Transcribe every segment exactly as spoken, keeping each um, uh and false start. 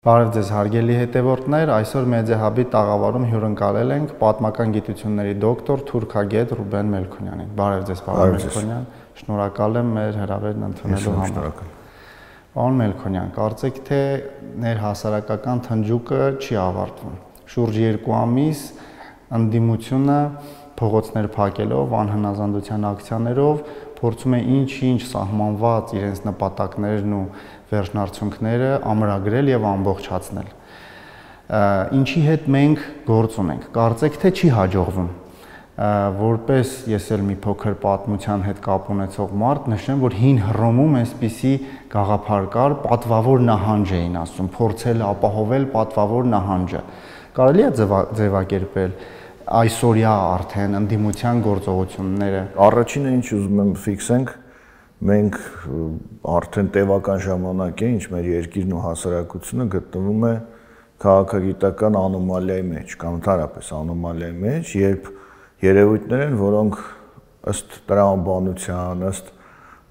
Բարև ձեզ հարգելի հետևորդներ, այսօր Մեդիահաբի տաղավարում հյուրընկալել ենք պատմական գիտությունների դոկտոր, թուրքագետ Ռուբեն Մելքոնյանին։ Բարև ձեզ, պարոն Մելքոնյան, շնորհակալ եմ մեր հրավերն ընդունելու համար։ Պարոն Մելքոնյան, կարծեք թե ներհասարակական թնջուկը չի ավարտվում։ Շուրջ երկու ամիս ընդդիմությունը փողոցներ փակելով, անհնազանդության ակցիաներով փորձում է ինչ-ինչ սահմանված իրենց նպատակներն ու վերջնարդյունքները ամրագրել եւ ամբողջացնել։ Ինչի հետ մենք գործ ունենք։ Կարծեք թե չի հաջողվում։ Որպես ես էլ մի փոքր պատմության հետ կապ ունեցող մարդ նշեմ, որ հին Հռոմում այսպիսի գաղափար կար, պատվավոր նահանջ էին ասում, փորձել ապահովել պատվավոր նահանջը։ Կարելի է ձևակերպել այսօրյա արդեն ընդդիմության գործողությունները։ Առաջինը ինչ ուզում եմ ֆիքսենք, մենք արդեն տևական ժամանակ է, ինչ մեր երկիրն ու հասարակությունը գտնվում է քաղաքագիտական անոմալիայի մեջ, կամ ընդհանրապես անոմալիայի մեջ, երբ երևույթներ են, որոնք ըստ տրամաբանության, ըստ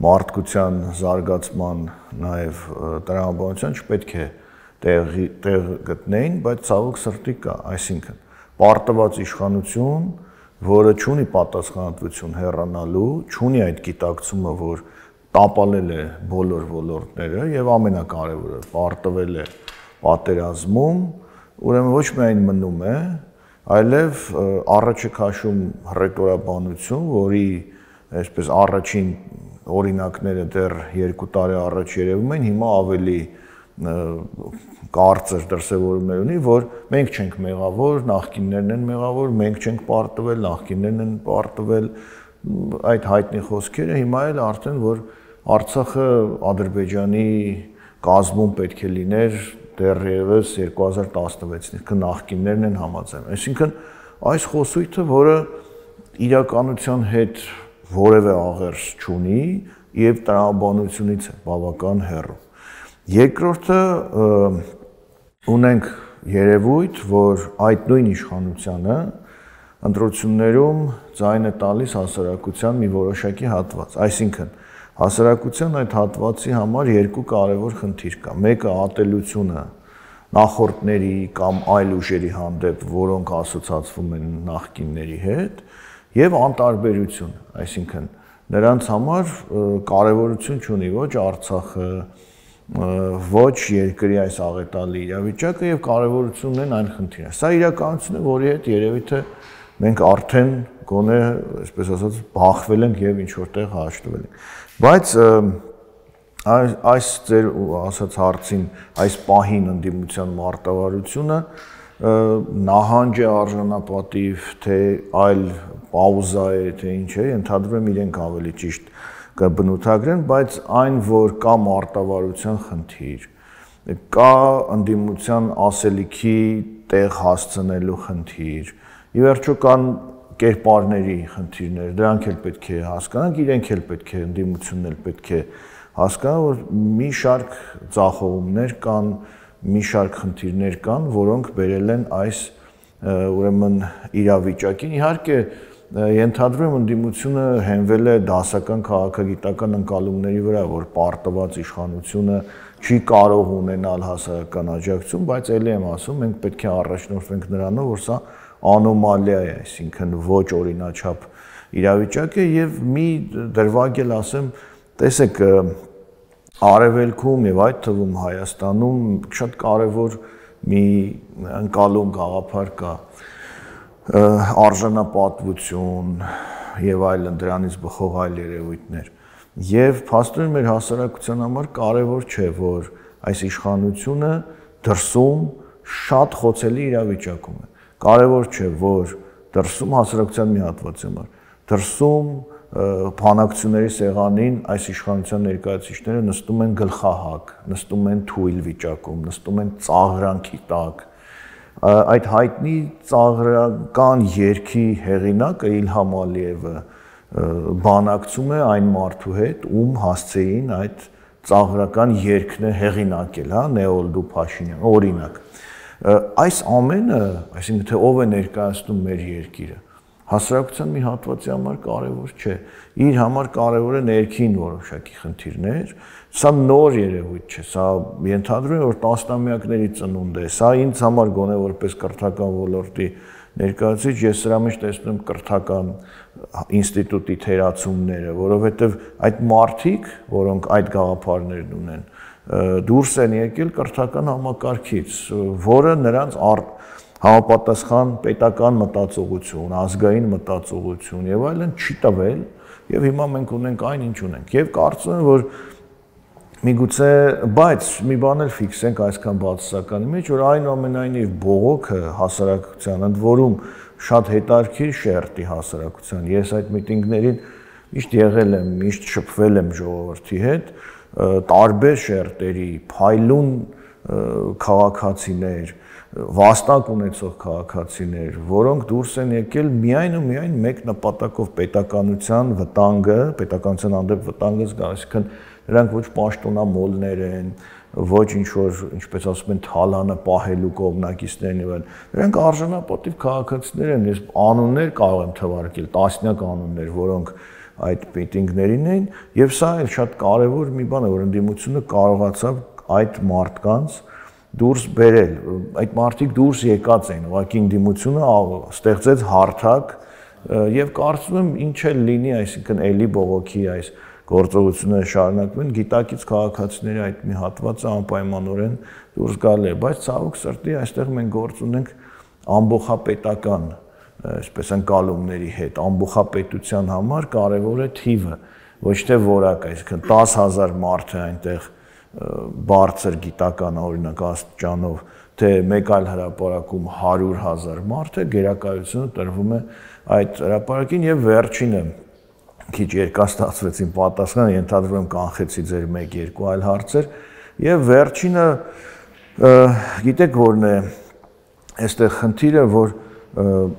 մարդկության զարգացման, նաև տրամաբանության չպետք է տեղ գտնեին, բայց ցավոք սրտի կա, այսինքն պարտված իշխանություն, որը չունի պատասխանատվություն հեռանալու, չունի այդ գիտակցումը, որ տապալել է բոլոր ոլորտները եւ ամենակարևորը պարտվել է պատերազմում, ուրեմն ոչ միայն մնում է, այլև առաջ է քաշում հռետորաբանություն, որի այսպես առաջին օրինակները դեռ երկու տարի առաջ երևում են, հիմա ավելի կարծր դրսևորումներ ունի, որ մենք չենք մեղավոր, նախկիններն են մեղավոր, մենք չենք պարտվել, նախկիններն են պարտվել, այդ հայտնի խոսքերը հիմա էլ արդեն որ Արցախը Ադրբեջանի կազմում պետք է լիներ դեռևս երկու հազար տասնվեցին, նախկիններն են համաձայն։ Այսինքն այս խոսույթը, որը իրականության հետ որևէ աղերս չունի եւ տրամաբանությունից է բավական հեռու։ Երկրորդը ունենք երևույթ, որ այդ նույն իշխանությանը ընտրություններում ձայն է տալիս հասարակության մի որոշակի հատված, այսինքն հասարակության այդ հատվածի համար երկու կարևոր խնդիր կա, մեկը ատելությունը նախորդների կամ այլ ուժերի հանդեպ, որոնք ասոցացվում են նախկինների հետ, եւ անտարբերությունը, այսինքն նրանց համար կարևորություն չունի ոչ Արցախը, ոչ երկրի այս աղետալի իրավիճակը եւ կարևորություն ունեն այն խնդիրը։ Սա իրականություն է, որի հետ երևի թե մենք արդեն գոնե, այսպես ասած, բախվել ենք եւ ինչ որտեղ հաշտվել ենք։ Բայց այս ձեր ասած հարցին, այս պահին ընդդիմության մարտավարությունը նահանջ է արժանապատիվ, թե այլ պաուզա է, թե ինչ է, ընդհանրում եմ իրենք ավելի ճիշտ կբնութագրեն, բայց այն, որ կա մարտավարության խնդիր, կա ընդդիմության ասելիքի տեղ հասցնելու խնդիր, ի վերջո կան կերպարների խնդիրներ, դրանք էլ պետք է հասկանանք, իրենք էլ պետք է, ընդդիմությունն էլ պետք է հասկանան, որ մի շարք ձախողումներ կան, մի շարք խնդիրներ կան, որոնք բերել են այս ուրեմն իրավիճակին, իհարկե ենթադրում եմ ընդդիմությունը հենվել է դասական քաղաքագիտական ընկալումների վրա, որ պարտված իշխանությունը չի կարող ունենալ հասարակական աջակցություն, բայց ելի եմ ասում, մենք պետք է առաջնորդվենք նրանով, որ սա անոմալիա է, այսինքն ոչ օրինաչափ իրավիճակ է եւ մի դրվագ էլ ասեմ, տեսեք, Արևելքում եւ այդ թվում Հայաստանում շատ կարեւոր մի ընկալում գաղափար կա, արժանապատվություն եւ այլն դրանից բխող այլ երևույթներ։ Եվ փաստորեն մեր հասարակության համար կարևոր չէ, որ այս իշխանությունը դրսում շատ խոցելի իրավիճակում է։ Կարևոր չէ, որ դրսում հասարակության մի հատվածի համար, դրսում բանակցությունների սեղանին այս իշխանության ներկայացուցիչները նստում են գլխահակ, նստում են թույլ վիճակում, նստում են ծաղրանքի տակ։ Այդ հայտնի ծաղրական երգի հեղինակը Իլհամ Ալիևը բանակցում է այն մարդու հետ, ում հասցեին այդ ծաղրական երգն է հեղինակել, հա, Նեոլդու Փաշինյան, օրինակ։ Այս ամենը, այսինքն թե ով է ներկայացնում մեր երկիրը, Հասարակության մի հատվածի համար կարևոր չէ։ Իր համար կարևոր է ներքին որոշակի խնդիրներ։ Սա նոր երևույթ չէ, սա ենթադրում է, որ տասնամյակների ծնունդ է։ Սա ինձ համար գոնե որպես կրթական ոլորտի ներկայացուցիչ ես սրա մեջ տեսնում կրթական ինստիտուտի թերացումները, որովհետև այդ մարդիկ, որոնք այդ գաղափարներն ունեն, դուրս են եկել կրթական համակարգից, որը նրանց համապատասխան պետական մտածողություն, ազգային մտածողություն եւ այլն չի տվել, եւ հիմա մենք ունենք այն, ինչ ունենք։ Եվ կարծում եմ, որ միգուցե, բայց մի բան էլ ֆիքսենք այսքան բացասականի մեջ, որ այնուամենայնիվ բողոքը հասարակության, ընդ որում շատ հետաքրքիր շերտի հասարակության։ Ես այդ միտինգներին միշտ եղել եմ, միշտ շփվել եմ ժողովրդի հետ, տարբեր շերտերի, փայլուն քաղաքացիներ, վաստակ ունեցող քաղաքացիներ, որոնք դուրս են եկել միայն ու միայն մեկ նպատակով պետականության վտանգը, պետականության հանդեպ վտանգը զգալիս, այսինքն նրանք ոչ պաշտոնամոլներ են, ոչ ինչ-որ, ինչպես ասում են, թալանը պահելու կողմնակիցներ են եւ այլն։ Նրանք արժանապատիվ քաղաքացիներ են, ես անուններ կարող եմ թվարկել, տասնյակ անուններ, որոնք այդ միտինգներին էին, եւ սա էլ շատ կարեւոր մի բան է, որ ընդդիմությունը կարողացավ այդ մարդկանց դուրս բերել, այդ մարդիկ դուրս եկած են, ուղղակի ընդդիմությունը ստեղծեց հարթակ եւ կարծում եմ ինչ էլ լինի, այսինքն էլի բողոքի այս գործողությունները շարունակվեն, գիտակից քաղաքացիների այդ մի հատվածը անպայմանորեն դուրս գալ է, բայց ցավոք սրտի այստեղ մենք գործ ունենք ամբողջապետական, այսպես ընկալումների հետ, ամբողջապետության համար կարևոր է թիվը, ոչ թե որակը, այսինքն տասը հազար մարդ է այնտեղ բարձր գիտական օրինակ աստիճանով, թե մեկ այլ հրապարակում հարյուր հազար մարդ է, գերակայությունը տրվում է այդ հրապարակին եւ վերջինը քիչ երկար ստացվեց իմ պատասխանը, ենթադրում եմ կանխեցի ձեր մեկ-երկու այլ հարցեր եւ վերջինը գիտեք որն է այստեղ խնդիրը, որ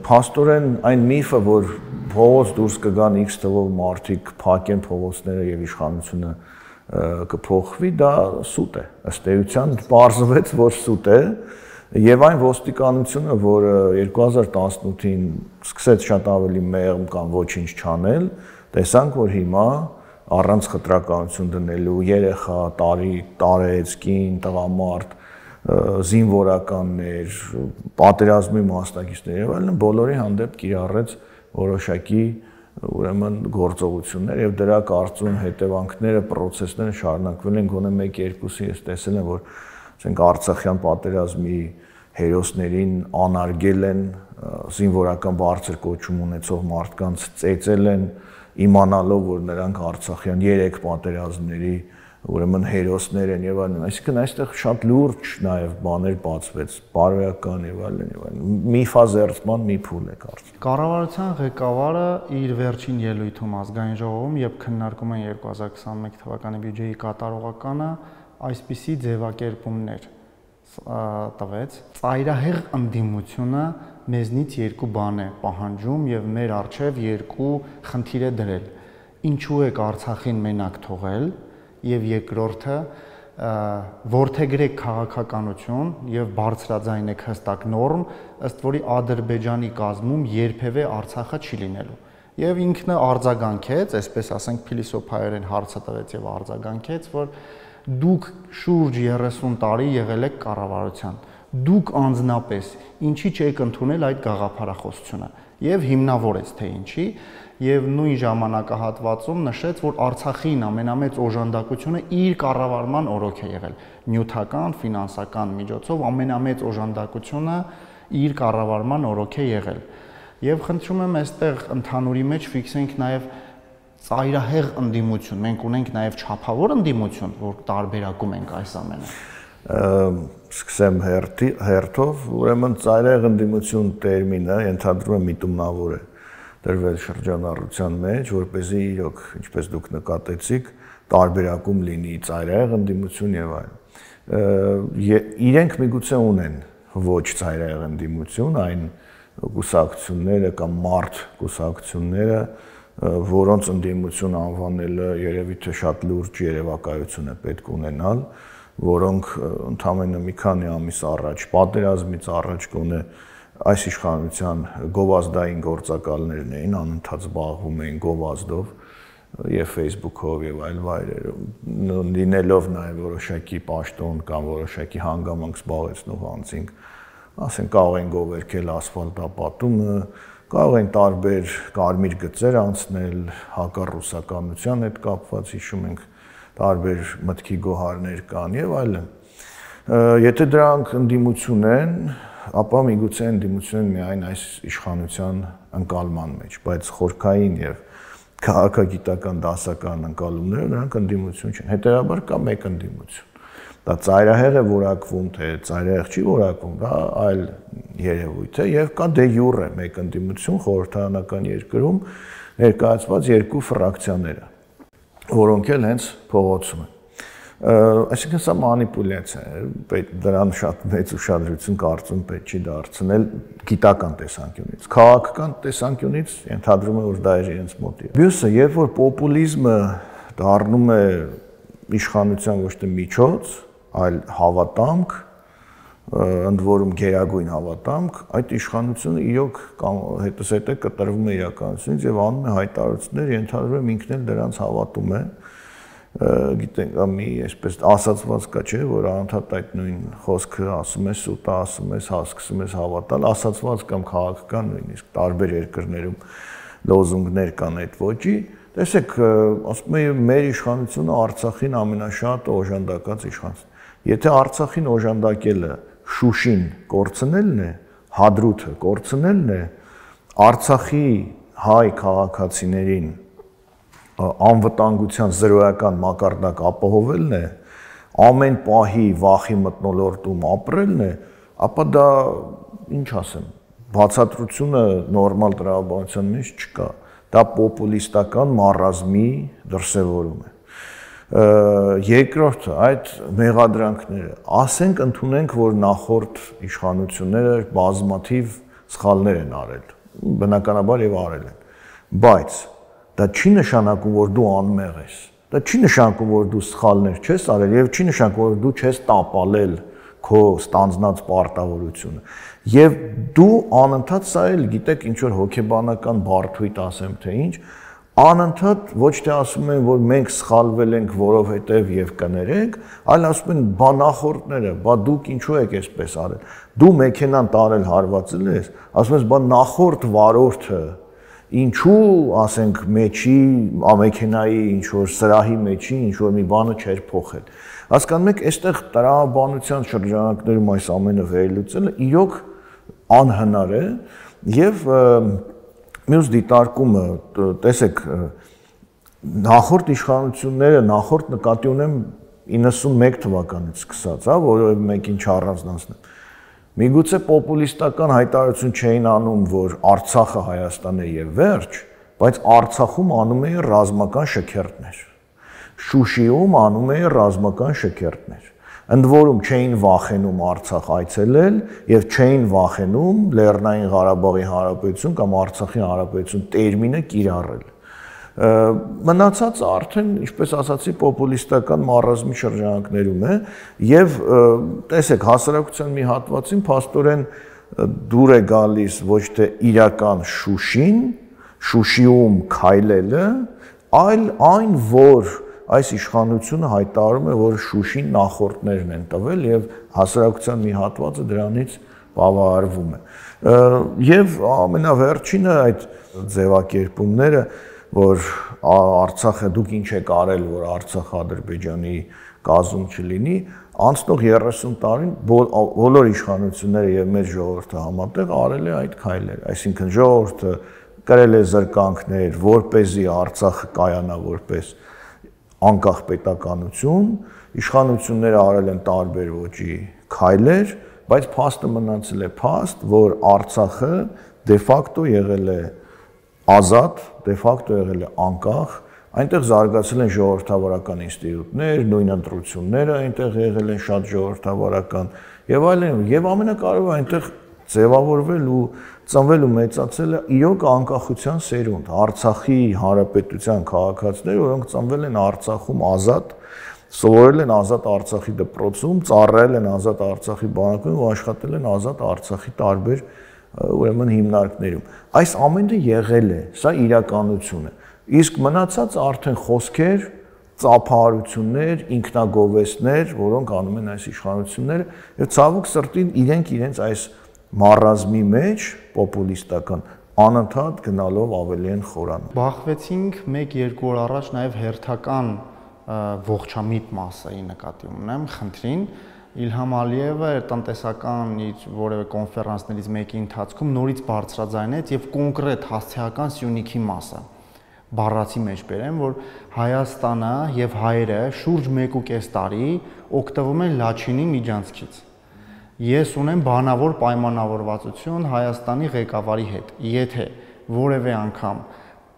փաստորեն այն միֆը, որ փողոց դուրս կգան X թվով մարդիկ, փակեն փողոցները եւ իշխանությունը կփոխվի, դա սուտ է, ըստ էության պարզվեց, որ սուտ է, եւ այն ոստիկանությունը, որը երկու հազար տասնութին սկսեց շատ ավելի մեղմ կամ ոչինչ չանել, տեսանք, որ հիմա առանց խտրականություն դնելու երեխա, տարի, տարեց, կին, տղամարդ, զինվորականներ, պատերազմի մասնակիցներ եւ այլն բոլորի հանդեպ կիրառեց որոշակի ուրեմն գործողություններ եւ դրա կարծում հետևանքները, process-ները շարունակվել են գոնե մեկ-երկուսի ես տեսել եմ, որ ասենք Արցախյան պատերազմի հերոսներին անարգել են, զինվորական բարձր կոչում ունեցող մարդկանց ծեծել են, իմանալով, որ նրանք Արցախյան երեք պատերազմների ուրեմն հերոսներ են եւ այլն, այսինքն այստեղ շատ լուրջ նաեւ բաներ բացվեց, բարոյական եւ այլն եւ այլն։ Միֆազերծման մի փուլ է կարծում։ Կառավարության ղեկավարը իր վերջին ելույթում ազգային ժողովում, երբ քննարկում են երկու հազար քսաներկու թվականի բյուջեի կատարողականը, այսպիսի ձևակերպումներ տվեց. ծայրահեղ ընդդիմությունը մեզնից երկու բան է պահանջում եւ մեր առջեւ երկու խնդիր է դրել։ Ինչու եք Արցախին մենակ թողել եւ երկրորդը որդեգրեք քաղաքականություն եւ բարձրաձայնեք հստակ նորմ, ըստ որի Ադրբեջանի կազմում երբևէ Արցախը չի լինելու։ Եվ ինքնը արձագանքեց, այսպես ասենք փիլիսոփայորեն հարցը տվեց եւ արձագանքեց, որ դուք շուրջ երեսուն տարի եղել եք կառավարության, դուք անձնապես ինչի չեք ընդունել այդ գաղափարախոսությունը եւ հիմնավորեց թե ինչի եւ նույն ժամանակահատվածում նշեց, որ Արցախին ամենամեծ օժանդակությունը իր կառավարման օրոք է եղել, նյութական, ֆինանսական միջոցով ամենամեծ օժանդակությունը իր կառավարման օրոք է եղել։ Եվ խնդրում եմ այստեղ ընդհանուրի մեջ ֆիքսենք նաեւ ծայրահեղ ընդդիմություն, մենք ունենք նաեւ չափավոր ընդդիմություն, որ տարբերակում ենք այս ամենը։ Սկսեմ հերթով, ուրեմն ծայրահեղ ընդդիմություն տերմինը ենթադրում է միտումնավոր է դրվել շրջանառության մեջ, որպեսզի իրոք, ինչպես դուք նկատեցիք, տարբերակում լինի ծայրահեղ ընդդիմություն եւ այլն։ Իրենք միգուցե ունեն ոչ ծայրահեղ ընդդիմություն, այն կուսակցությունները կամ մարդ կուսակցությունները, որոնց ընդդիմություն անվանելը երևի թե շատ լուրջ երևակայություն է պետք ունենալ, որոնք ընդամենը մի քանի ամիս առաջ, պատերազմից առաջ գոնե այս իշխանության գովազդային գործակալներն էին, անընդհատ զբաղվում էին գովազդով եւ Facebook-ով եւ այլ վայրերով, լինելով նաեւ որոշակի պաշտոն կամ որոշակի հանգամանք զբաղեցնող անձինք, ասենք կարող են գովերքել ասֆալտապատումը, կարող են տարբեր կարմիր գծեր անցնել հակառուսականության հետ կապված, հիշում ենք տարբեր մտքի գոհարներ կան եւ այլն։ Եթե դրանք ընդդիմություն են, ապա միգուցե ընդդիմություն են միայն այս իշխանության ընկալման մեջ, բայց խորքային եւ քաղաքագիտական դասական ընկալումները նրանք ընդդիմություն չեն։ Հետևաբար կա մեկ ընդդիմություն։ Դա ծայրահեղ է որակվում, թե ծայրահեղ չի որակվում, դա այլ երևույթ է եւ կա դե յուրե մեկ ընդդիմություն խորհրդարանական երկրում ներկայացված երկու ֆրակցիաները, որոնք էլ հենց փողոցում են։ Այսինքն սա մանիպուլյացիա է, դրան շատ մեծ ուշադրություն կարծում պետք չի դարձնել գիտական տեսանկյունից, քաղաքական տեսանկյունից ենթադրում է, որ դա է իրենց մոտի։ Մյուսը, երբ որ պոպուլիզմը դառնում է իշխանության ոչ թե միջոց, այլ հավատամք, ընդ որում գերագույն հավատամք, այդ իշխանությունը իրոք հետզհետե կտրվում է իրականությունից եւ անում է հայտարարություններ, ենթադրում եմ ինքն էլ դրանց հավատում է։ Գիտենք, մի այսպես ասացված կա, չէ, որ անընդհատ այդ նույն խոսքը ասում է, սուտը ասում է, հասկացում է հավատալ, ասացված կամ քաղաքական նույնիսկ տարբեր երկրներում լոզունգներ կան այդ ոճի։ Տեսեք, ասում եմ, մեր իշխանությունը Արցախին ամենաշատ օժանդակած իշխանություն։ Եթե Արցախին օժանդակելը Շուշին կորցնելն է, Հադրութը կորցնելն է, Արցախի հայ քաղաքացիներին անվտանգության զրոյական մակարդակ ապահովելն է, ամեն պահի վախի մթնոլորտում ապրելն է, ապա դա ինչ ասեմ, բացատրությունը նորմալ տրամաբանության մեջ չկա, դա պոպուլիստական մարազմի դրսևորում է։ Երկրորդը, այդ մեղադրանքները, ասենք ընդունենք, որ նախորդ իշխանությունները բազմաթիվ սխալներ են արել, բնականաբար եւ արել են, բայց դա չի նշանակում, որ դու անմեղ ես, դա չի նշանակում, որ դու սխալներ չես արել եւ չի նշանակում, որ դու չես տապալել քո ստանձնած պարտավորությունը։ Եվ դու անընդհատ սա էլ գիտեք ինչ որ հոգեբանական բարդույթ ասեմ թե ինչ, անընդհատ ոչ թե ասում են, որ մենք սխալվել ենք, որովհետև եւ կներենք, այլ ասում են, բա նախորդները, բա դուք ինչու եք այսպես արել։ Դու մեքենան տարել հարվածել ես, ասում ես, բա նախորդ վարորդը ինչու, ասենք, մեջի, ամեքենայի ինչ-որ սրահի մեջի ինչ-որ մի բանը չեր փոխել։ Հասկանում եք, այստեղ տրամաբանության շրջանակներում այս ամենը վերլուծելը իրոք անհնար է եւ մյուս դիտարկումը, տեսեք, նախորդ իշխանությունները, նախորդ նկատի ունեմ իննսունմեկ թվականից սկսած, հա, որովհետեւ մեկին չառանձնացնեմ։ Միգուցե պոպուլիստական հայտարարություն չէին անում, որ Արցախը Հայաստան է եւ վերջ, բայց Արցախում անում էին ռազմական շքերթներ։ Շուշիում անում էին ռազմական շքերթներ։ Ընդ որում չէին վախենում Արցախ այցելել եւ չէին վախենում Լեռնային Ղարաբաղի Հանրապետություն կամ Արցախի Հանրապետություն տերմինը կիրառել։ Մնացածը արդեն, ինչպես ասացի, պոպուլիստական մարազմի շրջանակներում է եւ տեսեք, հասարակության մի հատվածին փաստորեն դուր է գալիս ոչ թե իրական Շուշին, Շուշիում քայլելը, այլ այն, որ այս իշխանությունը հայտարարում է, որ Շուշին նախորդներն են տվել եւ հասարակության մի հատվածը դրանից բավարարվում է։ Եվ ամենավերջինը այդ ձևակերպումները, որ Արցախը դուք ինչ եք արել, որ Արցախը Ադրբեջանի կազում չլինի, անցնող երեսուն տարին բոլոր իշխանությունները եւ մեր ժողովուրդը համատեղ արել է այդ քայլերը, այսինքն ժողովուրդը կրել է զրկանքներ, որպեսզի Արցախը կայանա որպես անկախ պետականություն, իշխանությունները արել են տարբեր ոճի քայլեր, բայց փաստը մնացել է փաստ, որ Արցախը դե ֆակտո եղել է ազատ, դե ֆակտո եղել է անկախ, այնտեղ զարգացել են ժողովրդավարական ինստիտուտներ, նույն ընտրությունները այնտեղ եղել են շատ ժողովրդավարական եւ այլն, եւ ամենակարևորը այնտեղ ձևավորվել ու ծնվել ու մեծացել է իրոք անկախության սերունդ, Արցախի հանրապետության քաղաքացիներ, որոնք ծնվել են Արցախում ազատ, սովորել են ազատ Արցախի դպրոցում, ծառայել են ազատ Արցախի բանակում ու աշխատել են ազատ Արցախի տարբեր ուրեմն հիմնարկներում։ Այս ամենը եղել է, սա իրականություն է։ Իսկ մնացած արդեն խոսքեր, ծափահարություններ, ինքնագովեստներ, որոնք անում են այս իշխանությունները, եւ ցավոք սրտին իրենք իրենց այս մարազմի մեջ պոպուլիստական անընդհատ գնալով ավելի են խորանում։ Բախվեցինք մեկ երկու օր առաջ նաև հերթական ողջամիտ մասայի նկատի ունեմ, խնդրին Իլհամ Ալիևը տնտեսական իր որևէ կոնֆերանսներից մեկի ընթացքում նորից բարձրաձայնեց եւ կոնկրետ հասցեական Սյունիքի մասը բառացի մեջ բերեմ, որ Հայաստանը եւ հայերը շուրջ մեկ ու կես տարի օգտվում են Լաչինի միջանցքից։ Ես ունեմ բանավոր պայմանավորվածություն Հայաստանի ղեկավարի հետ, եթե որևէ անգամ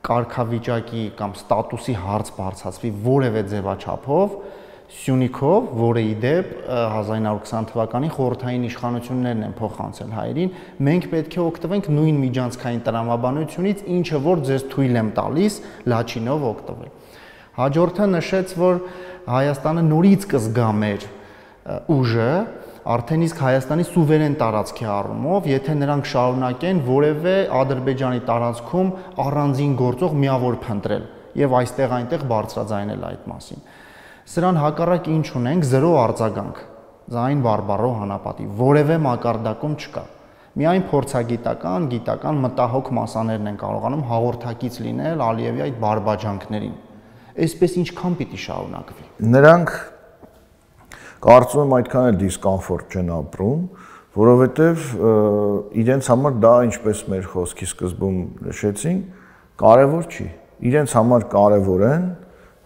կարգավիճակի կամ ստատուսի հարց բարձրացվի որևէ ձևաչափով, Սյունիքով, որը ի դեպ հազար իննսուն քսան թվականի խորհրդային իշխանություններն են փոխանցել հայերին, մենք պետք է օգտվենք նույն միջանցքային տրամաբանությունից, ինչը որ ձեզ թույլ եմ տալիս Լաչինով օգտվել։ Հաջորդը նշեց, որ Հայաստանը նորից կզգա մեր ուժը, արդեն իսկ Հայաստանի սուվերեն տարածքի առումով, եթե նրանք շարունակեն որևէ Ադրբեջանի տարածքում առանձին գործող միավոր փնտրել եւ այստեղ այնտեղ բարձրաձայնել այդ մասին։ Սրան հակառակ ինչ ունենք, զրո արձագանք, ձայն բարբառո հանապատի, որևէ մակարդակում չկա։ Միայն փորձագիտական, գիտական մտահոգ մասաներն են կարողանում հաղորդակից լինել Ալիևի այդ բարբաջանքներին։ Այսպես ինչքան պիտի շարունակվի։ Նրանք կարծում եմ այդքան էլ դիսկոմֆորտ չեն ապրում, որովհետև իրենց համար դա ինչպես մեր խոսքի սկզբում նշեցին, կարևոր չի։ Իրենց համար կարևոր են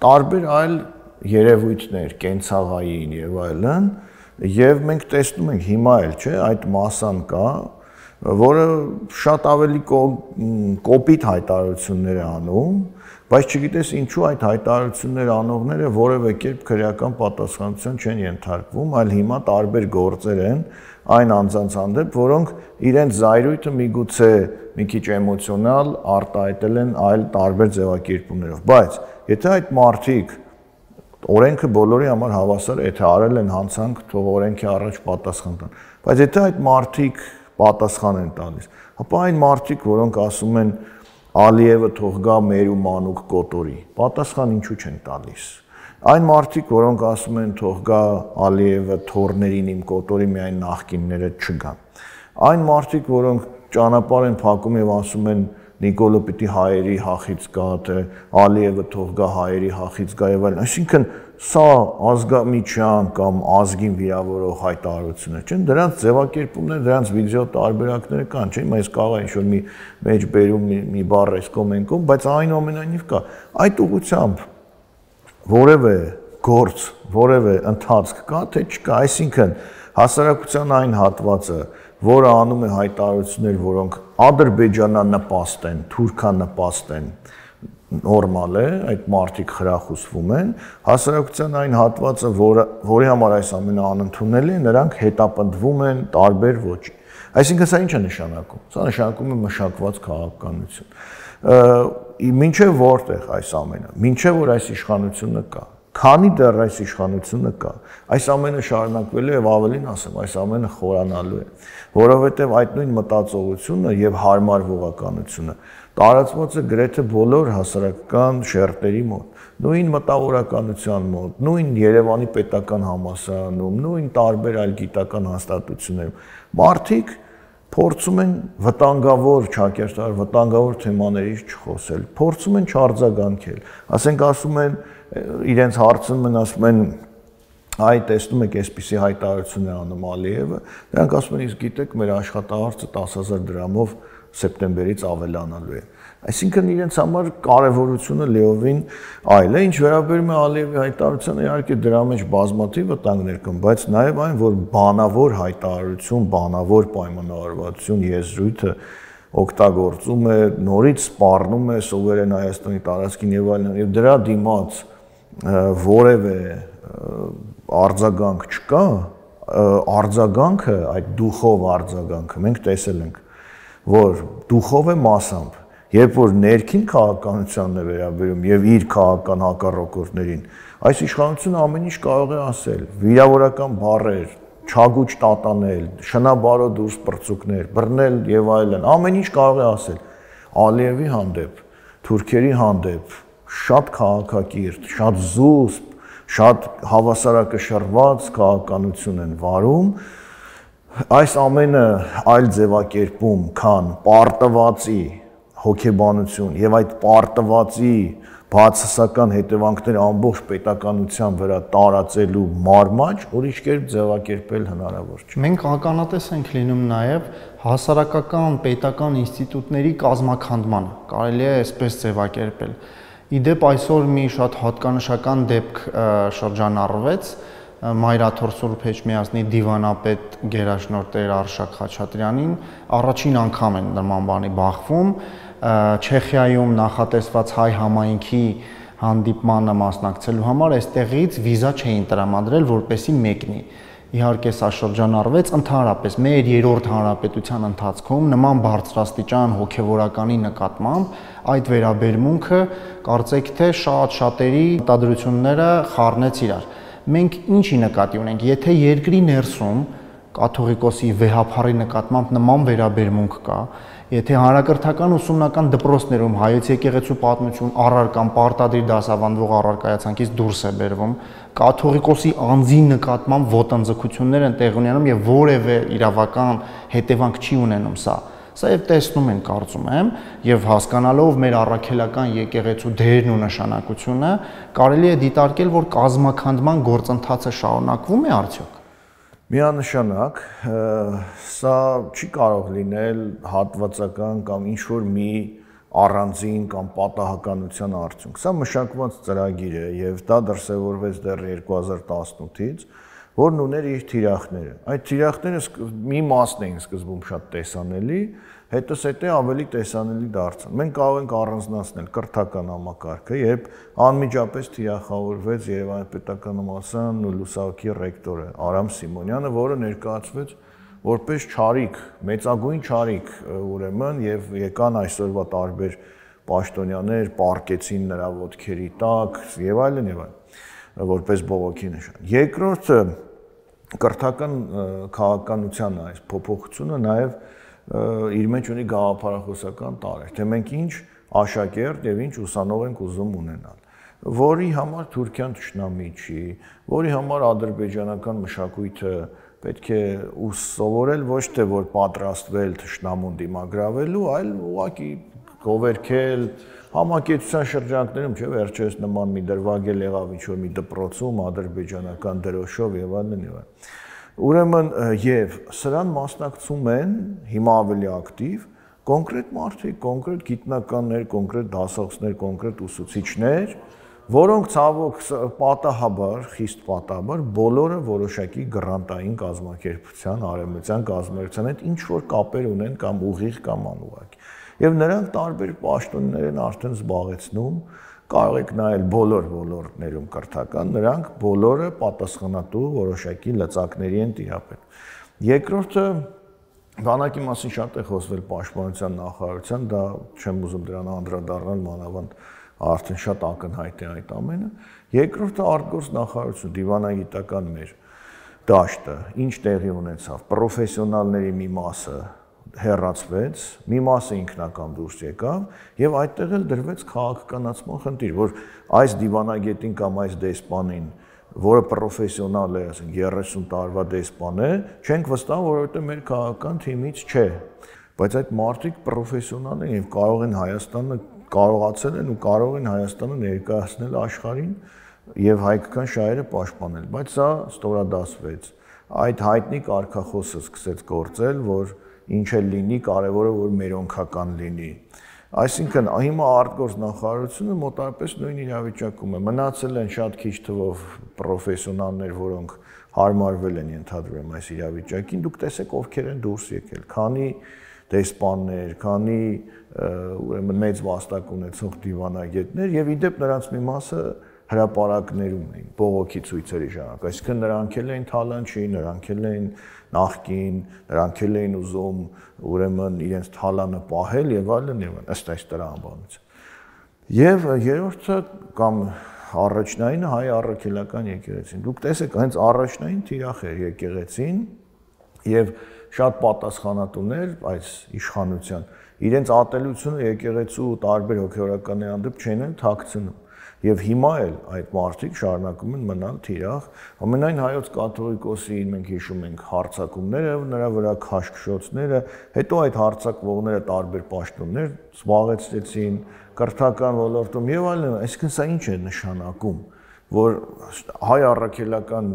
տարբեր այլ երևույթներ, կենցաղային եւ այլն, եւ մենք տեսնում ենք հիմա էլ, չէ, այդ մասան կա, որը շատ ավելի կոպիտ հայտարարություններ է անում, բայց չգիտես ինչու այդ հայտարարություններ անողները որևէ կերպ քրեական պատասխանատվության չեն ենթարկվում, այլ հիմա տարբեր գործեր են այն անձանց հանդեպ, որոնք իրենց զայրույթը միգուցե մի քիչ էմոցիոնալ արտահայտել են այլ տարբեր ձևակերպումներով, բայց եթե այդ մարդիկ օրենքը բոլորի համար հավասար է, եթե արել են հանցանք, թող օրենքի առաջ պատասխան տան, բայց եթե այդ մարդիկ պատասխան են տալիս, ապա այն մարդիկ, որոնք ասում են Ալիևը թող գա մեր ու մանուկ կոտորի, պատասխան ինչու չեն տալիս։ Այն մարդիկ, որոնք ասում են թող գա Ալիևը թորներին իմ կոտորի, միայն նախկինները չգան։ Այն մարդիկ, որոնք ճանապարհ են փակում եւ ասում են Նիկոլը պիտի հայերի հախից գա, թե Ալիևը թող գա հայերի հախից գա եւ այլն։ Այսինքն սա ազգամիջյան կամ ազգին վիրավորող հայտարարություն է, չէ՞։ Դրանց ձևակերպումները, դրանց վիդեո տարբերակները կան, չէ՞։ Այս կարող է ինչ-որ մի մեջ բերում մի բառ էս կոմենտում, բայց այնուամենայնիվ կա։ Այդ ուղղությամբ որևէ գործ, որևէ ընթացք կա, թե չկա, այսինքն հասարակության այն հատվածը, որը անում է հայտարարություններ, որոնք ադրբեջանանպաստ են, թուրքանպաստ են, նորմալ է, այդ մարդիկ խրախուսվում են, հասարակության այն հատվածը, որը, որի համար այս ամենը անընդունելի է, նրանք հետապնդվում են տարբեր ոճի։ Այսինքն սա ինչ է նշանակում։ Սա նշանակում է մշակված քաղաքականություն։ Մինչև որտեղ այս ամենը, մինչև որ այս իշխանությունը կա, քանի դեռ այս իշխանությունը կա, այս ամենը շարունակվելու եւ ավելին ասեմ, այս ամենը խորանալու է, որովհետեւ այդ նույն մտածողությունը եւ հարմարվողականությունը տարածված է գրեթե բոլոր հասարակական շերտերի մոտ, նույն մտավորականության մոտ, նույն Երևանի պետական համալսարանում, նույն տարբեր այլ գիտական հաստատություններում։ Մարդիկ փորձում են վտանգավոր ճակերտար, վտանգավոր թեմաներից չխոսել, փորձում են չարձագանքել, ասենք ասում են իրենց հարցնում են, ասում են այ տեսնում եք այսպիսի հայտարարություն է անում Ալիևը, նրանք ասում են իսկ գիտեք մեր աշխատավարձը տասը հազար դրամով սեպտեմբերից ավելանալու է։ Այսինքն իրենց համար կարևորությունը լիովին այլ է, ինչ վերաբերում է Ալիևի հայտարարությանը, իհարկե դրա մեջ բազմաթիվ վտանգներ կան, բայց նաև այն, որ բանավոր հայտարարություն, բանավոր պայմանավորվածություն եզրույթը օգտագործում է, նորից սպառնում է սուվերեն Հայաստանի տարածքին եւ այլն, եւ դրա դիմաց որևէ արձագանք չկա, արձագանքը, այդ դուխով արձագանքը մենք տեսել ենք, որ դուխով է մասամբ, երբ որ ներքին քաղաքականությանն է վերաբերում եւ իր քաղաքական հակառակորդներին, այս իշխանությունը ամեն ինչ կարող է ասել, վիրավորական բառեր, չագուճ տատանել, շնաբարո դուրս պրծուկներ, բռնել եւ այլն, ամեն ինչ կարող է ասել Ալիևի հանդեպ, թուրքերի հանդեպ, շատ քաղաքակիրթ, շատ զուսպ, շատ հավասարակշռված քաղաքականություն են վարում, այս ամենը այլ ձևակերպում, քան պարտվածի հոգեբանություն եւ այդ պարտվածի բացասական հետևանքները ամբողջ պետականության վրա տարածելու մարմաճ ուրիշ կերպ ձևակերպել հնարավոր չէ։ Մենք ականատես ենք լինում նաև հասարակական պետական ինստիտուտների կազմաքանդմանը, կարելի է այսպես ձևակերպել։ Իդեպ այսօր մի շատ հատկանշական դեպք շրջանառվեց Մայրաթոր Սուրբ Էջմիածնի դիվանապետ գերաշնորհ Տեր Արշակ Խաչատրյանին առաջին անգամ են նման բանի բախվում Չեխիայում նախատեսված հայ համայնքի հանդիպմանը մասնակցելու համար այստեղից վիզա չէին տրամադրել, որպեսզի մեկնի։ Իհարկե սա շրջանառվեց ընդհանրապես մեր երրորդ հանրապետության ընթացքում նման բարձրաստիճան հոգևորականի նկատմամբ այդ վերաբերմունքը կարծեք թե շատ շատերի մտադրությունները խառնեց իրար։ Մենք ինչի նկատի ունենք, եթե երկրի ներսում կաթողիկոսի վեհափառի նկատմամբ նման վերաբերմունք կա, եթե հանրակրթական ուսումնական դպրոցներում հայոց եկեղեցու պատմություն առարկան պարտադիր դասավանդվող առարկայացանկից դուրս է բերվում, կաթողիկոսի անձի նկատմամբ ոտնձգություններ են տեղի ունենում եւ որևէ իրավական հետևանք չի ունենում սա։ Սա եւ տեսնում են, կարծում եմ, եւ հասկանալով մեր առաքելական եկեղեցու դերն ու նշանակությունը, կարելի է դիտարկել, որ կազմաքանդման գործընթացը շարունակվում է արդյոք։ Միանշանակ, սա չի կարող լինել հատվածական կամ ինչ-որ մի առանձին կամ պատահականության արդյունք։ Սա մշակված ծրագիր է եւ դա դրսևորվեց դեռ երկու հազար տասնութից, որն ուներ իր թիրախները։ Այդ թիրախները մի մասն էին սկզբում շատ տեսանելի, հետո-հետո ավելի տեսանելի դարձան։ Մենք կարող ենք առանձնացնել կրթական համակարգը, երբ անմիջապես թիրախավորվեց Երևանի պետական համալսարան ու լուսահոգի ռեկտորը Արամ Սիմոնյանը, որը ներկայացվեց որպես չարիք, մեծագույն չարիք, ուրեմն եւ եկան այսօրվա տարբեր պաշտոնյաներ, պարկեցին նրա ոտքերի տակ եւ այլն եւ այլն, որպես բողոքի նշան։ Երկրորդը կրթական քաղաքականության այս փոփոխությունը նաեւ իր մեջ ունի գաղափարախոսական տարեր, թե մենք ինչ աշակերտ եւ ինչ ուսանող ենք ուզում ունենալ, որի համար Թուրքիան թշնամի չի, որի համար ադրբեջանական մշակույթը պետք է սովորել ոչ թե որ պատրաստվել թշնամուն դիմագրավելու, այլ ուղղակի գովերքել համակեցության շրջանակներում, չէ, վերջերս նման մի դրվագել եղավ ինչ-որ մի դպրոցում ադրբեջանական դրոշով եւ այլն եւ այլն։ Ուրեմն եւ սրան մասնակցում են հիմա ավելի ակտիվ կոնկրետ մարդիկ, կոնկրետ գիտնականներ, կոնկրետ դասախոսներ, կոնկրետ ուսուցիչներ, որոնք ցավոք պատահաբար, խիստ պատահաբար բոլորը որոշակի գրանտային կազմակերպության, արևմտյան կազմակերպության հետ ինչ որ կապեր ունեն կամ ուղիղ կամ անուղղակի։ Եվ նրանք տարբեր պաշտոններ են արդեն զբաղեցնում, կարող եք նայել բոլոր ոլորտներում կրթական, նրանք բոլորը պատասխանատու որոշակի լծակների են տիրապետում։ Երկրորդը բանակի մասին շատ է խոսվել պաշտպանության նախարարության, դա չեմ ուզում դրան անդրադառնալ, մանավանդ արդեն շատ ակնհայտ է այդ ամենը։ Երկրորդը արտգործ նախարարություն, դիվանագիտական մեր դաշտը, ինչ տեղի ունեցավ, պրոֆեսիոնալների մի մասը հեռացվեց, մի մասը ինքնական դուրս եկավ եւ այդտեղ էլ դրվեց քաղաքականացման խնդիր, որ այս դիվանագետին կամ այս դեսպանին, որը պրոֆեսիոնալ է, ասենք երեսուն տարվա դեսպան է, չենք վստահ, որովհետեւ մեր քաղաքական թիմից չէ, բայց այդ մարդիկ պրոֆեսիոնալ են եւ կարող են Հայաստանը կարողացել են ու կարող են Հայաստանը ներկայացնել աշխարհին եւ հայկական շահերը պաշտպանել, բայց սա ստորադասվեց։ Այդ հայտնի կարգախոսը սկսեց գործել, որ ինչ էլ լինի, կարևորը որ մերոնքական լինի։ Այսինքն հիմա արտգործ նախարարությունը մոտարպես նույն իրավիճակում է։ Մնացել են շատ քիչ թվով պրոֆեսիոնալներ, որոնք հարմարվել են ենթադրում այս իրավիճակին, դուք տեսեք ովքեր են դուրս եկել, քանի դեսպաններ, քանի ուրեմն մեծ վաստակ ունեցող դիվանագետներ եւ իդեպ նրանց մի մասը հրապարակներում էին, բողոքի ցույցերի ժամանակ, այսինքն նրանք էլ էին թալանչի, նրանք էլ էին նախկին, նրանք էլ էին ուզում ուրեմն իրենց թալանը պահել եւ այլն եւ այլն, ըստ այս տրամաբանության։ Եվ երրորդը կամ առաջնայինը հայ առաքելական եկեղեցին։ Դուք տեսեք, հենց առաջնային թիրախ էր եկեղեցին եւ շատ պատասխանատուներ այս իշխանության իրենց ատելությունը եկեղեցու տարբեր հոգեորականների հանդեպ չեն թաքցնում։ Եվ հիմա էլ այդ մարդիկ շարունակում են մնալ թիրախ։ Ամենայն հայոց կաթողիկոսի մենք հիշում ենք հարձակումները, նրա վրա քաշքշոցները, հետո այդ հարձակվողները տարբեր պաշտոններ զբաղեցրեցին կրթական ոլորտում եւ այլն, այսինքն սա ինչ է նշանակում, որ հայ առաքելական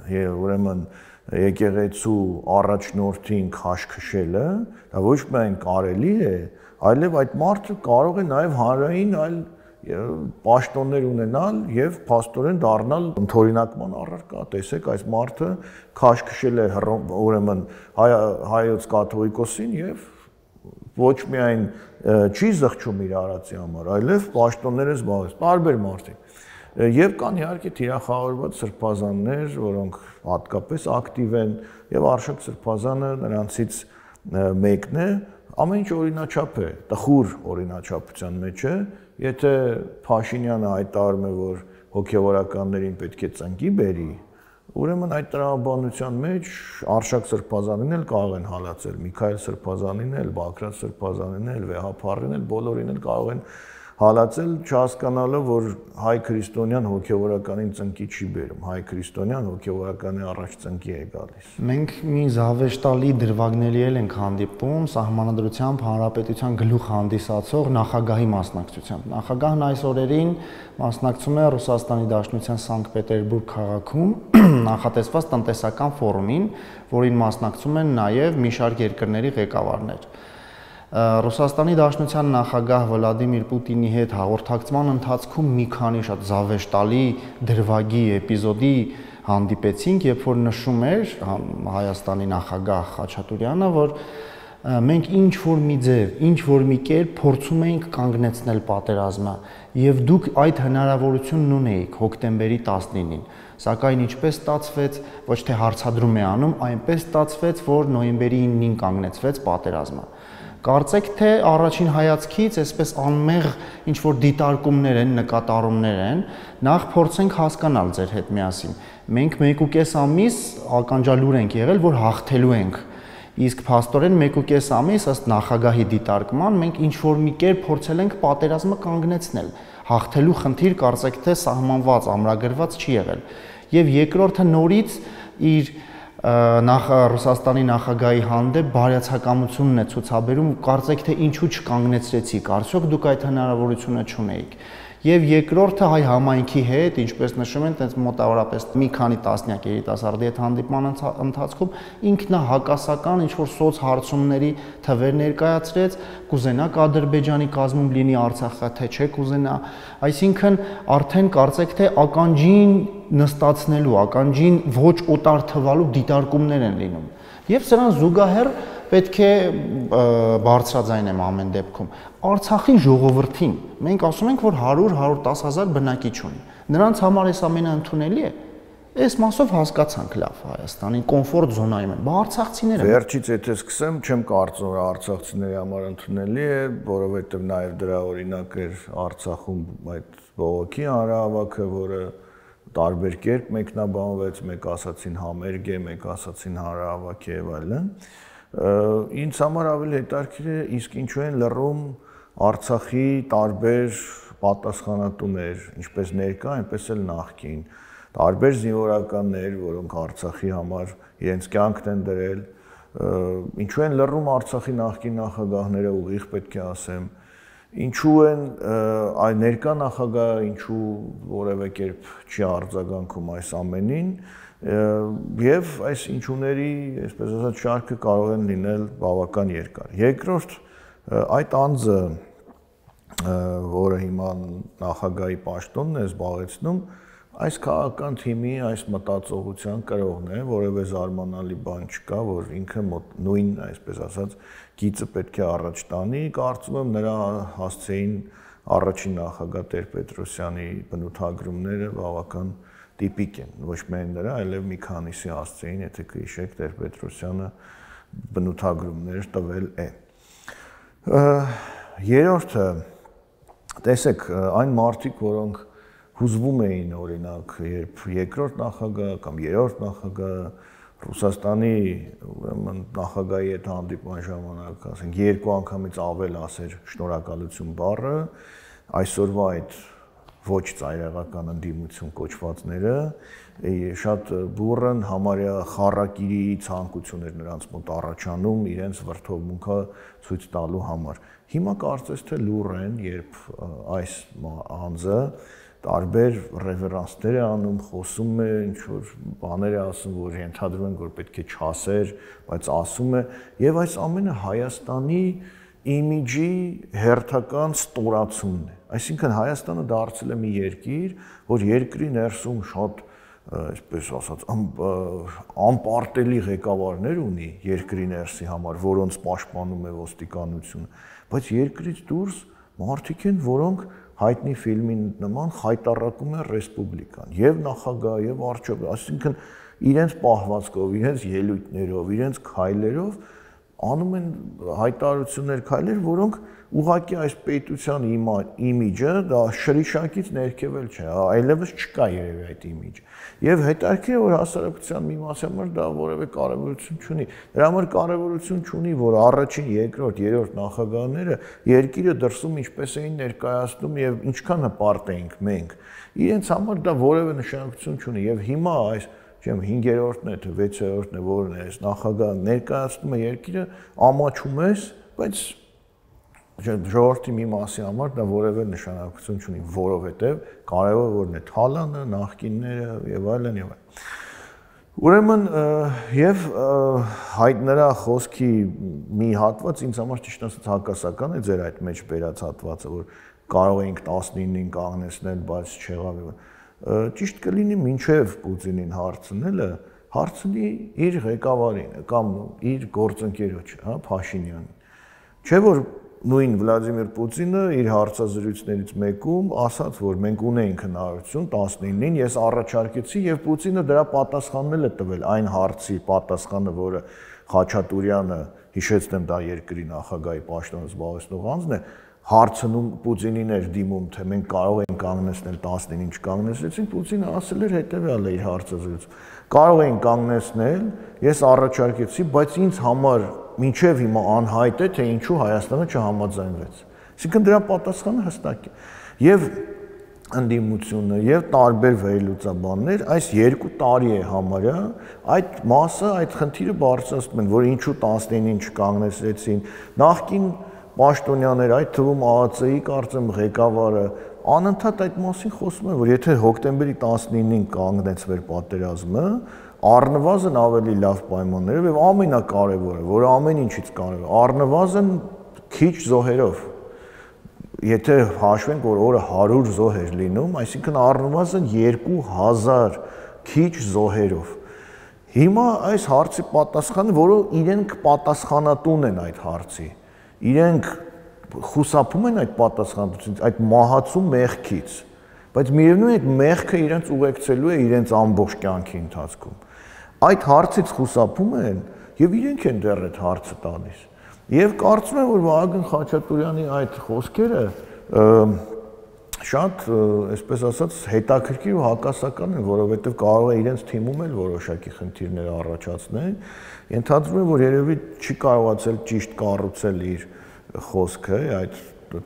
ուրեմն եկեղեցու առաջնորդին քաշքշելը, դա ոչ միայն կարելի է, այլև այդ մարդը կարող է նաեւ հանրային այլ պաշտոններ ունենալ եւ փաստորեն դառնալ ընդօրինակման առարկա։ Տեսեք, այս մարդը քաշքշել է ուրեմն հայոց կաթողիկոսին եւ ոչ միայն չի զղջում իր արածի համար, այլև պաշտոններ է զբաղեցնում տարբեր մարդիկ։ Եվ կան իհարկե թիրախավորված սրբազաններ, որոնք հատկապես ակտիվ են եւ Արշակ սրբազանը նրանցից մեկն է, ամեն ինչ օրինաչափ է, տխուր օրինաչափության մեջ է։ Եթե Փաշինյանը հայտարարում է, որ հոգևորականներին պետք է ծնկի բերի, ուրեմն այդ տրամաբանության մեջ Արշակ սրբազանին էլ կարող են հալածել, Միքայել սրբազանին էլ, Բագրատ սրբազանին էլ, Վեհապարին էլ, բոլորին էլ կարող են հալածել, չհասկանալով, որ հայ քրիստոնյան հոգևորականին ծնկի չի բերում, հայ քրիստոնյան հոգևորականի առաջ ծնկի է գալիս։ Մենք մի զավեշտալի դրվագների էլ ենք հանդիպում Սահմանադրությամբ Հանրապետության գլուխ հանդիսացող նախագահի մասնակցությամբ։ Նախագահն այս օրերին մասնակցում է Ռուսաստանի Դաշնության Սանկտ Պետերբուրգ քաղաքում նախատեսված տնտեսական ֆորումին, որին մասնակցում են նաև մի շարք երկրների ղեկավարներ։ Ռուսաստանի Դաշնության նախագահ Վլադիմիր Պուտինի հետ հաղորդակցման ընթացքում մի քանի շատ զավեշտալի դրվագի էպիզոդի հանդիպեցինք, երբ որ նշում էր Հայաստանի նախագահ Խաչատուրյանը, որ մենք ինչ որ մի ձև, ինչ որ մի կերպ փորձում էինք կանգնեցնել պատերազմը, եւ դուք այդ հնարավորությունն ունեիք հոկտեմբերի տասնինին, սակայն ինչպես ստացվեց, ոչ թե հարցադրում է անում, այնպես ստացվեց, որ նոյեմբերի իննին կանգնեցվեց պատերազմը։ Կարծեք թե առաջին հայացքից այսպես անմեղ ինչ որ դիտարկումներ են, նկատառումներ են, նախ փորձենք հասկանալ ձեր հետ միասին։ Մենք մեկ ու կես ամիս ականջալուր ենք եղել, որ հաղթելու ենք։ Իսկ փաստորեն մեկ ու կես ամիս ըստ նախագահի դիտարկման մենք ինչ որ մի կերպ փորձել ենք պատերազմը կանգնեցնել։ Հաղթելու խնդիր կարծեք թե սահմանված, ամրագրված չի եղել։ Եվ երկրորդը նորից իր նախ Ռուսաստանի նախագահի հանդեպ բարյացակամությունն է ցուցաբերում, կարծեք թե ինչու չկանգնեցրեցիք, արդյոք դուք այդ հնարավորությունը չունեիք։ Եվ երկրորդը հայ համայնքի հետ, ինչպես նշում են, տենց մոտավորապես մի քանի տասնյակ երիտասարդի հետ հանդիպման ընթացքում ինքնահակասական ինչ որ սոցհարցումների թվեր ներկայացրեց, կուզենաք Ադրբեջանի կազմում լինի Արցախը, թե չէ կուզենա, այսինքն արդեն կարծեք թե ականջին նստացնելու, ականջին ոչ օտար թվալու դիտարկումներ են լինում։ Եվ սրան զուգահեռ պետք է բարձրաձայն եմ ամեն դեպքում Արցախի ժողովրդին մենք ասում ենք, որ հարյուր հարյուր տասը հազար բնակիչ ունի։ Նրանց համար այս ամենը ընդունելի է։ Այս մասով հասկացանք լավ Հայաստանի կոմֆորտ զոնայում են, բայց արցախցիները Վերջից եթե սկսեմ, չեմ կարծում, որ արցախցիների համար ընդունելի է, որովհետև նաև դրա օրինակ էր Արցախում այդ բողոքի հանրահավաքը, որը տարբեր կերպ մեկնաբանվեց, մեկ ասացին համերգ է, մեկ ասացին հանրահավաք է եւ այլն։ Ինձ համար ավելի հետաքրքիր է իսկ ինչու են լռում Արցախի տարբեր պատասխանատուներ, ինչպես ներկա, այնպես էլ նախկին, տարբեր զինվորականներ, որոնք Արցախի համար իրենց կյանքն են դրել, ինչու են լռում Արցախի նախկին նախագահները, ուղիղ պետք է ասեմ, ինչու են այ ներկա նախագահը ինչու որևէ կերպ չի արձագանքում այս ամենին եւ այս ինչուների, այսպես ասած, շարքը կարող են լինել բավական երկար։ Երկրորդ, այդ անձը, որը հիմա նախագահի պաշտոնն է զբաղեցնում, այս քաղաքական թիմի այս մտածողության կրողն է, որևէ զարմանալի բան չկա, որ ինքը նույն, այսպես ասած, գիծը պետք է առաջ տանի, կարծում եմ նրա հասցեին առաջին նախագահ Տեր-Պետրոսյանի բնութագրումները բավական տիպիկ են, ոչ միայն նրա, այլև մի քանիսի հասցեին, եթե կհիշեք, Տեր-Պետրոսյանը բնութագրումներ տվել է։ Երրորդը, տեսեք, այն մարդիկ, որոնք հուզվում էին օրինակ, երբ երկրորդ նախագահ կամ երրորդ նախագահ Ռուսաստանի ուրեմն նախագահի հետ հանդիպման ժամանակ, ասենք երկու անգամից ավել ասեր շնորհակալություն բառը, այսօրվա այդ ոչ ծայրահեղական ընդդիմություն կոչվածները շատ բուրըն համարյա խառակիրի ցանկություն էր նրանց մոտ առաջանում իրենց վրթովմունքը ցույց տալու համար։ Հիմա կարծես թե լուռ են, երբ այս անձը տարբեր ռևերանսներ է անում, խոսում է, ինչ-որ բաներ է ասում, որ ենթադրում են, որ պետք է չասեր, բայց ասում է, եւ այս ամենը Հայաստանի իմիջի հերթական ստորացումն է։ Այսինքն Հայաստանը դարձել է մի երկիր, որ երկրի ներսում շատ, այսպես ասած, անպարտելի ղեկավարներ ունի երկրի ներսի համար, որոնց պաշտպանում է ոստիկանությունը, բայց երկրից դուրս մարդիկ են, որոնք հայտնի ֆիլմի նման խայտառակում են ռեսպուբլիկան, եւ նախագահ, եւ արչով, այսինքն իրենց պահվածքով, իրենց ելույթներով, իրենց քայլերով անում են հայտարարություններ, քայլեր, որոնք ուղղակի այս պետության իմիջը դա շրիշակից ներքևել չէ, այլևս չկա երևի այդ իմիջը։ Եվ հետաքրքիր է, որ հասարակության մի մասի համար դա որևէ կարևորություն չունի։ Դրա համար կարևորություն չունի, որ առաջին, երկրորդ, երրորդ նախագահները երկիրը դրսում ինչպես էին ներկայացնում եւ ինչքան հպարտ էինք մենք։ Իրենց համար դա որևէ նշանակություն չունի եւ հիմա այս Չեմ հինգերորդն է, թե վեցերորդն է, որն է, այս նախագահը ներկայացնում է երկիրը, ամաչում ես, բայց ժողովրդի մի մասի համար դա որևէ նշանակություն չունի, որովհետև կարևոր որն է թալանը, նախկինները եւ այլն եւ այլն։ Ուրեմն եւ հայտ նրա խոսքի մի հատված ինձ համար ճիշտ ասած հակասական է ձեր այդ մեջ բերած հատվածը, որ կարող էինք տասնինին կանգնեցնել, բայց չեղավ եւ ճիշտ կլինի մինչև Պուտինին հարցնելը, հարցնի իր ղեկավարին կամ իր գործընկերոջը, հա, Փաշինյանին։ Չէ՞ որ նույն Վլադիմիր Պուտինը իր հարցազրույցներից մեկում ասաց, որ մենք ունենք հնարավորություն տասնինին, ես առաջարկեցի եւ Պուտինը դրա պատասխանն է տվել այն հարցի պատասխանը, որը Խաչատուրյանը, հիշեցնեմ, դա երկրի նախագահի պաշտոնը զբաղեցնող անձն է, հարցնում Պուտինին էր դիմում, թե մենք կարող ենք կանգնեցնել տասնինին չկանգնեցրեցին, Պուտինը ասել էր հետևյալը իր հարցազրույցում. կարող ենք կանգնեցնել, ես առաջարկեցի, բայց ինձ համար մինչև հիմա անհայտ է, թե ինչու Հայաստանը չհամաձայնվեց։ Այսինքն դրա պատասխանը հստակ է։ Եվ ընդդիմությունը եւ տարբեր վերլուծաբաններ այս երկու տարի է համարյա այդ մասը, այդ խնդիրը բարձրացնում են, որ ինչու տասնինին չկանգնեցրեցին, նախկին պաշտոնյաներ, այդ թվում ԱԱՑ-ի կարծեմ ղեկավարը անընդհատ այդ մասին խոսում են, որ եթե հոկտեմբերի տասնինին կանգնեցվեր պատերազմը, առնվազն ավելի լավ պայմաններով եւ ամենակարևորը, որը ամեն ինչից կարևոր է, առնվազն քիչ զոհերով։ Եթե հաշվենք, որ օրը հարյուր զոհ էր լինում, այսինքն առնվազն երկու հազար քիչ զոհերով։ Հիմա այս հարցի պատասխանը, որը իրենք պատասխանատուն են այդ հարցի, իրենք խուսափում են այդ պատասխանատվությունից, այդ մահացու մեղքից, բայց միևնույն է այդ մեղքը իրենց ուղեկցելու է իրենց ամբողջ կյանքի ընթացքում։ Այդ հարցից խուսափում են եւ իրենք են դեռ այդ հարցը տալիս։ Եվ կարծում եմ, որ Վահագն Խաչատուրյանի այդ խոսքերը շատ, այսպես ասած, հետաքրքիր ու հակասական են, որովհետև կարող է իրենց թիմում էլ որոշակի խնդիրներ առաջացնել։ Ենթադրում եմ, որ երևի չի կարողացել ճիշտ կառուցել իր խոսքը, այդ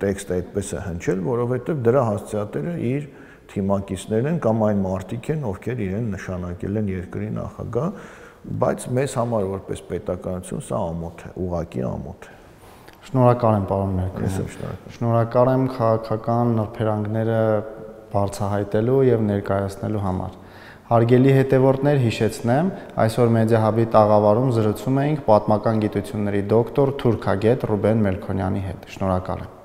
տեքստը այդպես է հնչել, որովհետև դրա հասցեատերը իր թիմակիցներն են կամ այն մարդիկ են, ովքեր իրեն նշանակել են երկրի նախագահ, բայց մեզ համար որպես պետականություն սա ամոթ է, ուղղակի ամոթ է։ Շնորհակալ եմ, պարոն Մերկոյան։ Շնորհակալ եմ քաղաքական նրբերանգները բարձրահայտելու եւ ներկայացնելու համար։ Հարգելի հետևորդներ, հիշեցնեմ, այսօր Մեդիահաբի տաղավարում զրուցում էինք պատմական գիտությունների դոկտոր, թուրքագետ Ռուբեն Մելքոնյանի հետ։ Շնորհակալ եմ։